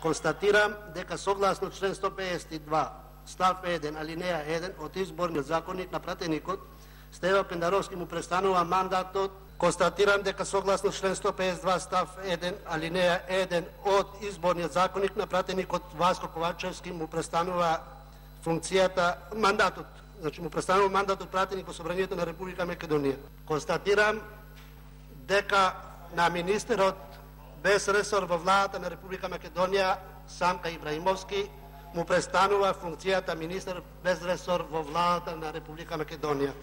Констатирам дека согласно член 152 став 1 алинеја 1 од Изборниот законник на пратеникот Стева Пендаровски му престанува мандатот. Констатирам дека согласно член 152 став 1 алинеја 1 од Изборниот законник на пратеникот Васко Ковачевски му престанува мандатот. Значи му престанува мандатот пратеник во Собранието на Република Македонија. Констатирам дека на министерот без ресор во владата на Република Македонија Самка Ибраимовски му престанува функцијата министер без ресор во владата на Република Македонија.